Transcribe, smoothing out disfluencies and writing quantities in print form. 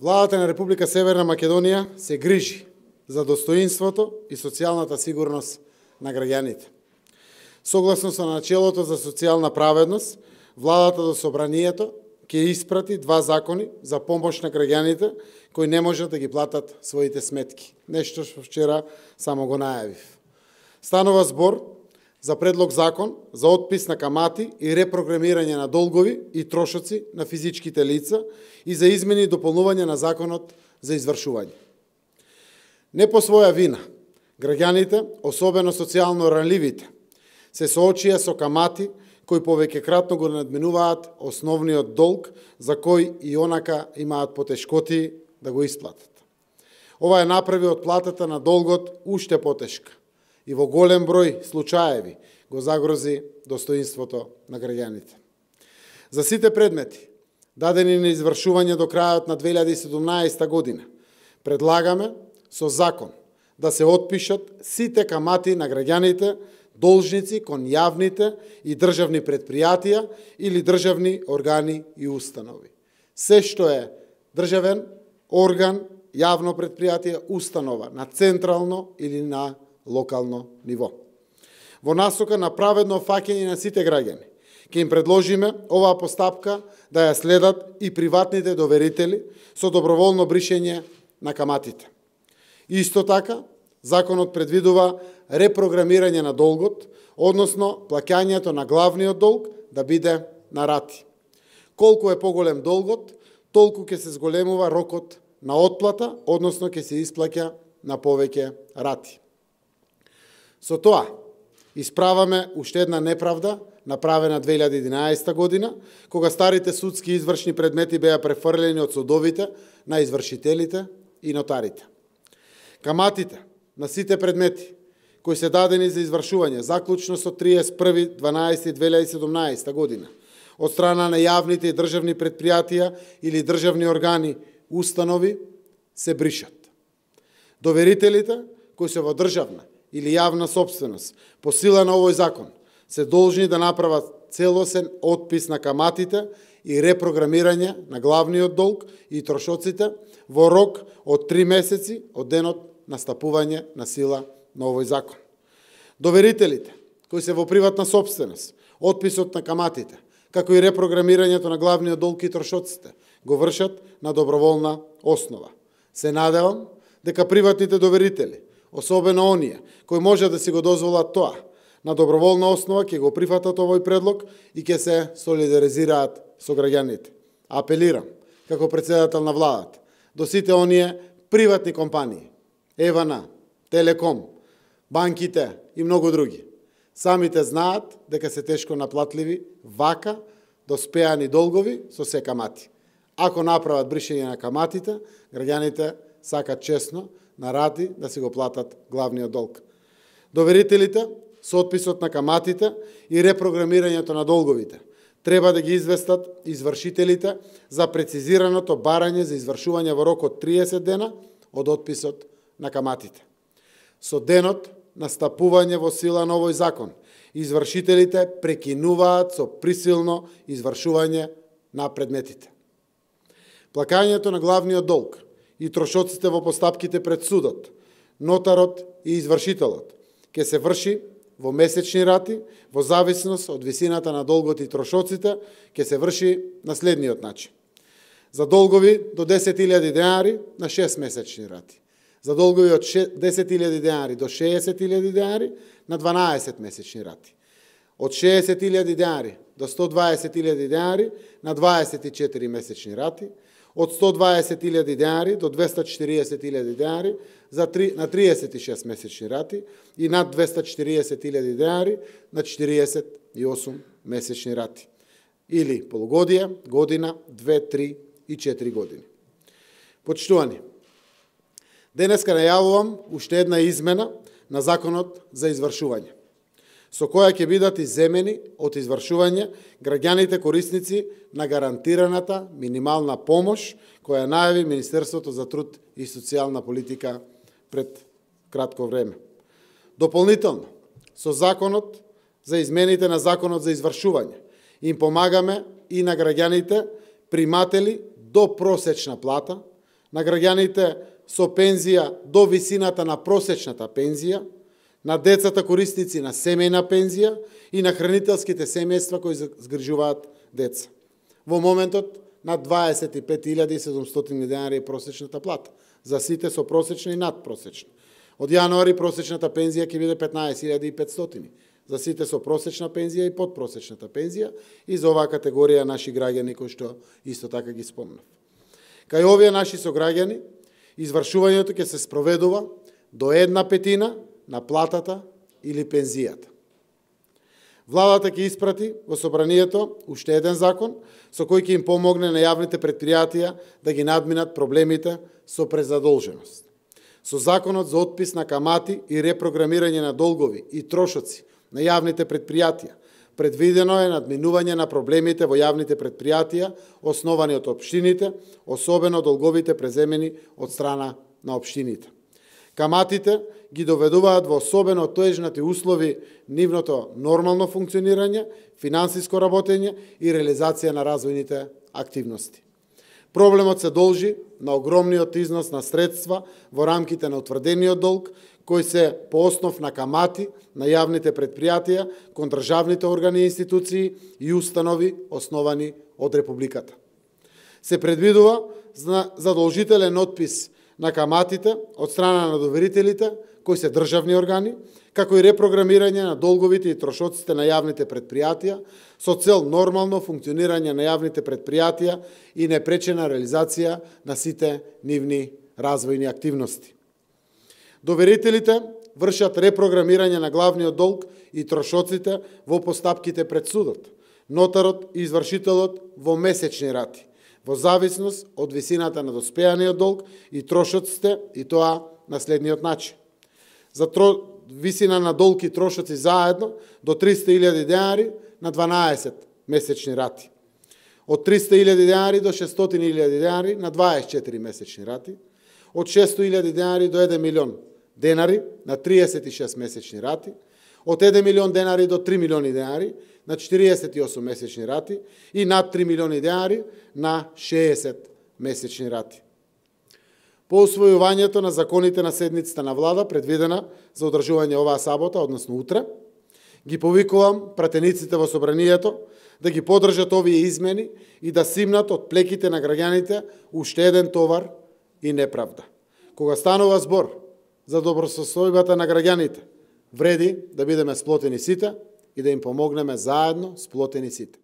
Владата на Република Северна Македонија се грижи за достоинството и социјалната сигурност на граѓаните. Согласно со начелото за социјална праведност, владата до собранието ќе испрати 2 закони за помош на граѓаните кои не можат да ги платат своите сметки. Нешто што вчера само го најавив. Станува збор за предлог закон за отпис на камати и репрограмирање на долгови и трошоци на физичките лица и за измени и дополнување на законот за извршување. Не по своја вина, граѓаните, особено социјално ранливите, се соочија со камати кои повеќекратно го надминуваат основниот долг за кој и онака имаат потешкоти да го исплатат. Ова е направи од платата на долгот уште потешка и во голем број случаеви го загрози достоинството на граѓаните. За сите предмети, дадени на извршување до крајот на 2017 година, предлагаме со закон да се отпишат сите камати на граѓаните должници кон јавните и државни предпријатија или државни органи и установи. Се што е државен орган, јавно предпријатие, установа на централно или на локално ниво. Во насока на праведно фаќање на сите граѓани, ќе им предложиме оваа постапка да ја следат и приватните доверители со доброволно бришење на каматите. Исто така, законот предвидува репрограмирање на долгот, односно плаќањето на главниот долг да биде на рати. Колку е поголем долгот, толку ќе се зголемува рокот на отплата, односно ќе се исплаќа на повеќе рати. Со тоа, исправаме уште една неправда, направена 2011 година, кога старите судски извршни предмети беа префрлени од судовите на извршителите и нотарите. Каматите на сите предмети кои се дадени за извршување заклучно со 31.12.2017 година од страна на јавните и државни предпријатија или државни органи, установи се бришат. Доверителите кои се во државна или јавна собственост по сила на овој закон се должни да направат целосен отпис на каматите и репрограмирање на главниот долг и трошоците во рок од 3 месеци од денот на стапување на сила на овој закон. Доверителите кои се во приватна собственост, отписот на каматите, како и репрограмирањето на главниот долг и трошоците го вршат на доброволна основа. Се надевам дека приватните доверители, особено оние кои може да си го дозволат тоа, на доброволна основа ќе го прифатат овој предлог и ќе се солидаризираат со граѓаните. Апелирам, како председател на владата, до сите оние приватни компании, ЕВН, Телеком, банките и многу други. Самите знаат дека се тешко наплатливи вака доспеани долгови со се камати. Ако направат бришење на каматите, граѓаните сакат честно на рати да си го платат главниот долг. Доверителите со отписот на каматите и репрограмирањето на долговите треба да ги известат извршителите за прецизираното барање за извршување во рок од 30 дена од отписот на каматите. Со денот на стапување во сила на овој закон, извршителите прекинуваат со присилно извршување на предметите. Плакањето на главниот долг и трошоците во постапките пред судот, нотарот и извршителот ќе се врши во месечни рати, во зависност од висината на долгот и трошоците, ќе се врши на следниот начин. За долгови до 10.000 денари на 6 месечни рати. За долгови од 10.000 денари до 60.000 денари на 12 месечни рати. Од 60.000 денари до 120.000 денари на 24 месечни рати. Од 120.000 денари до 240.000 денари на 36 месечни рати и над 240.000 денари на 48 месечни рати. Или полугодие, година, 2, 3 и 4 години. Почитувани, денеска најавувам уште една измена на законот за извршување, со која ќе бидат изземени од извршување граѓаните корисници на гарантираната минимална помош која најави Министерството за труд и социјална политика пред кратко време. Дополнително, со законот за измените на законот за извршување им помагаме и на граѓаните приматели до просечна плата, на граѓаните со пензија до висината на просечната пензија, на децата корисници на семејна пензија и на хранителските семејства кои згрижуваат деца. Во моментот на 25.700 денари е просечната плата за сите со просечна и надпросечна. Од јануари просечната пензија ќе биде 15.500 за сите со просечна пензија и подпросечната пензија и за оваа категорија наши граѓани кои што исто така ги спомнав. Кај овие наши сограѓани, извршувањето ќе се спроведува до 1/5 на платата или пензијата. Владата ќе испрати во собранието уште еден закон со кој ќе им помогне на јавните предпријатија да ги надминат проблемите со презадолженост. Со законот за отпис на камати и репрограмирање на долгови и трошоци на јавните предпријатија, предвидено е надминување на проблемите во јавните предпријатија основани од општините, особено долговите преземени од страна на општините. Каматите ги доведуваат во особено тежнати услови нивното нормално функционирање, финансиско работење и реализација на развојните активности. Проблемот се должи на огромниот износ на средства во рамките на утврдениот долг, кои се по основ на камати на јавните предпријатија кон државните органи и институции и установи основани од Републиката. Се предвидува задолжителен отпис на каматите од страна на доверителите, кои се државни органи, како и репрограмирање на долговите и трошоците на јавните предпријатија со цел нормално функционирање на јавните предпријатија и непречена реализација на сите нивни развојни активности. Доверителите вршат репрограмирање на главниот долг и трошоците во постапките пред судот, нотарот и извршителот во месечни рати, во зависност од висината на доспеаниот долг и трошоците, и тоа на следниот начин. За висина на долг и трошоци заедно до 300.000 денари на 12 месечни рати. Од 300.000 денари до 600.000 денари на 24 месечни рати. Од 600.000 денари до 1 милион денари на 36 месечни рати. Од 1 милион денари до 3 милиони денари на 48 месечни рати и над 3 милиони денари на 60 месечни рати. По усвојувањето на законите на седницата на влада, предвидена за одржување оваа сабота, односно утре, ги повикувам пратениците во собранието да ги поддржат овие измени и да симнат од плеките на граѓаните уште еден товар и неправда. Кога станува збор за добросостојбата на граѓаните, вреди да бидеме сплотени сите и да им помогнеме заедно сплотени сите.